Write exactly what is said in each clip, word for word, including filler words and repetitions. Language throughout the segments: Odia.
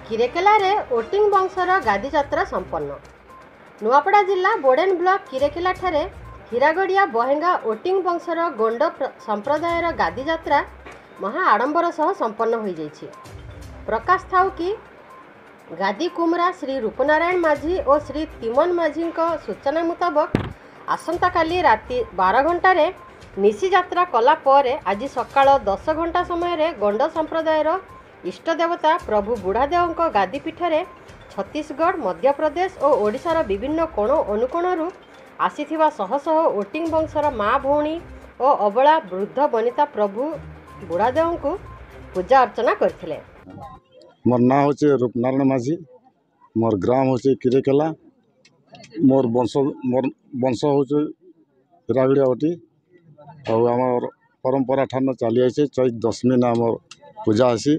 କିରେକେଲାରେ ଓଟିଂ ବଂଶର ଗାଦିଯାତ୍ରା ସମ୍ପନ୍ନ। ନୂଆପଡ଼ା ଜିଲ୍ଲା ବୋଡ଼େନ ବ୍ଲକ କିରେକେଲାଠାରେ ହୀରାଗଡ଼ିଆ ବହେଙ୍ଗା ଓଟିଂ ବଂଶର ଗୋଣ୍ଡ ସମ୍ପ୍ରଦାୟର ଗାଦିଯାତ୍ରା ମହା ଆଡ଼ମ୍ବର ସହ ସମ୍ପନ୍ନ ହୋଇଯାଇଛି। ପ୍ରକାଶ ଥାଉ କି, ଗାଦି କୁମରା ଶ୍ରୀ ରୂପନାରାୟଣ ମାଝୀ ଓ ଶ୍ରୀ ତିମନ ମାଝୀଙ୍କ ସୂଚନା ମୁତାବକ, ଆସନ୍ତାକାଲି ରାତି ବାର ଘଣ୍ଟାରେ ନିଶି ଯାତ୍ରା କଲା ପରେ ଆଜି ସକାଳ ଦଶ ଘଣ୍ଟା ସମୟରେ ଗଣ୍ଡ ସମ୍ପ୍ରଦାୟର ଇଷ୍ଟ ଦେବତା ପ୍ରଭୁ ବୁଢ଼ାଦେଓଙ୍କ ଗାଦିପୀଠରେ ଛତିଶଗଡ଼, ମଧ୍ୟପ୍ରଦେଶ ଓ ଓଡ଼ିଶାର ବିଭିନ୍ନ କୋଣ ଅନୁକୋଣରୁ ଆସିଥିବା ଶହ ଶହ ଓଟିଂ ବଂଶର ମା ଭଉଣୀ ଓ ଅବଳା ବୃଦ୍ଧ ବନିତା ପ୍ରଭୁ ବୁଢ଼ାଦେଓଙ୍କୁ ପୂଜା ଅର୍ଚ୍ଚନା କରିଥିଲେ। ମୋର୍ ନାଁ ହେଉଛି ରୂପନାରାୟଣ ମାଝୀ। ମୋର୍ ଗ୍ରାମ ହେଉଛି କିରେକେଲା। ମୋର୍ ବଂଶ ମୋର୍ ବଂଶ ହେଉଛି ହୀରାଗଡ଼ିଆ ଓଟି। ଆଉ ଆମର୍ ପରମ୍ପରା ଠାନ ଚାଲି ଆଇଛେ, ଚୈତ ଦଶମୀନେ ଆମର୍ ପୂଜା ହେସି।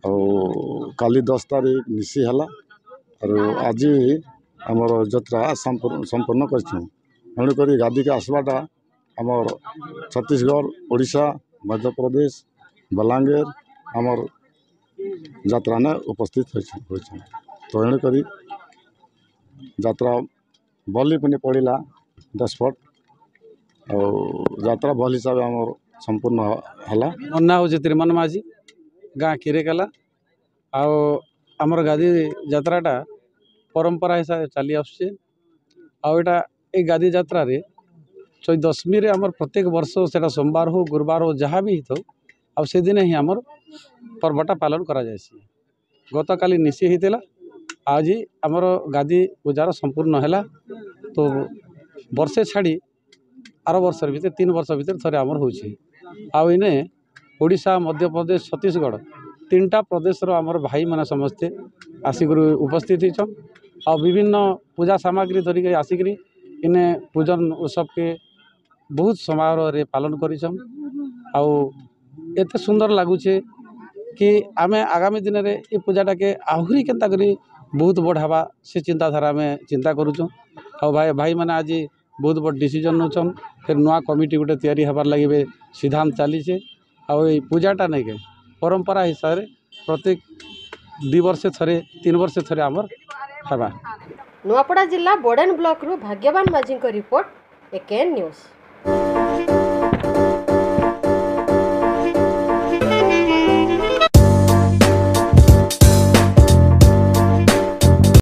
ଆଉ କାଲି ଦଶ ତାରିଖ ନିଶି ହେଲା, ଆରୁ ଆଜି ଆମର ଯାତ୍ରା ସମ୍ପୂର୍ଣ୍ଣ କରିଛୁଁ। ତେଣୁକରି ଗାଦିକେ ଆସ୍ବାଟା ଆମର୍ ଛତିଶଗଡ଼, ଓଡ଼ିଶା, ମଧ୍ୟପ୍ରଦେଶ, ବଲାଙ୍ଗୀର ଆମର୍ ଯାତ୍ରାନେ ଉପସ୍ଥିତ ହୋଇଛନ୍। ତ ଏଣୁକରି ଯାତ୍ରା ବଲି ପୁନି ପଡ଼ିଲା ଦଶ ଫଟ୍, ଆଉ ଯାତ୍ରା ଭଲ୍ ହିସାବେ ଆମର୍ ସମ୍ପୂର୍ଣ୍ଣ ହେଲା। ମୋର୍ ନାଁ ହେଉଛି ତ୍ରିମନ ମାଝୀ, ଗାଁ କିରେକେଲା। ଆଉ ଆମର ଗାଦି ଯାତ୍ରାଟା ପରମ୍ପରା ହିସାବରେ ଚାଲି ଆସୁଛେ। ଆଉ ଏଇଟା ଏଇ ଗାଦି ଯାତ୍ରାରେ ଚୈତ ଦଶମୀରେ ଆମର ପ୍ରତ୍ୟେକ ବର୍ଷ, ସେଇଟା ସୋମବାର ହଉ, ଗୁରୁବାର ହଉ, ଯାହା ବି ହେଇଥାଉ, ଆଉ ସେଦିନେ ହିଁ ଆମର ପର୍ବଟା ପାଳନ କରାଯାଏସି। ଗତକାଲି ନିଶି ହେଇଥିଲା, ଆଜି ଆମର ଗାଦି ପୂଜାର ସମ୍ପୂର୍ଣ୍ଣ ହେଲା। ତ ବର୍ଷେ ଛାଡ଼ି ଆର ବର୍ଷର ଭିତରେ, ତିନି ବର୍ଷ ଭିତରେ ଥରେ ଆମର ହେଉଛି। ଆଉ ଏଇନେ ଓଡ଼ିଶା, ମଧ୍ୟପ୍ରଦେଶ, ଛତିଶଗଡ଼ ତିନିଟା ପ୍ରଦେଶର ଆମର ଭାଇମାନେ ସମସ୍ତେ ଆସିକରି ଉପସ୍ଥିତ ହେଇଛନ୍। ଆଉ ବିଭିନ୍ନ ପୂଜା ସାମଗ୍ରୀ ଧରିକରି ଆସିକରି ଇନେ ପୂଜନ ଉତ୍ସବକେ ବହୁତ ସମାରୋହରେ ପାଳନ କରିଛନ୍। ଆଉ ଏତେ ସୁନ୍ଦର ଲାଗୁଛେ କି ଆମେ ଆଗାମୀ ଦିନରେ ଏ ପୂଜାଟାକେ ଆହୁରି କେନ୍ତା କରି ବହୁତ ବଡ଼ ହେବା, ସେ ଚିନ୍ତାଧାରା ଆମେ ଚିନ୍ତା କରୁଛୁଁ। ଆଉ ଭାଇ ଭାଇମାନେ ଆଜି ବହୁତ ବଡ଼ ଡିସିଜନ୍ ନେଉଛନ୍। ଫେର୍ ନୂଆ କମିଟି ଗୋଟେ ତିଆରି ହେବାର୍ ଲାଗି ଏବେ ସିଦ୍ଧାନ୍ତ ଚାଲିଛେ। ଆଉ ଏଇ ପୂଜାଟା ନେଇକେ ପରମ୍ପରା ହିସାବରେ ପ୍ରତ୍ୟେକ ଦୁଇ ବର୍ଷ ଥରେ, ତିନି ବର୍ଷ ଥରେ ଆମର୍ ହେବା। ନୂଆପଡ଼ା ଜିଲ୍ଲା ବୋଡ଼େନ ବ୍ଲକରୁ ଭାଗ୍ୟବାନ ମାଝୀଙ୍କ ରିପୋର୍ଟ, ଏକେଏନ୍ ନ୍ୟୁଜ୍।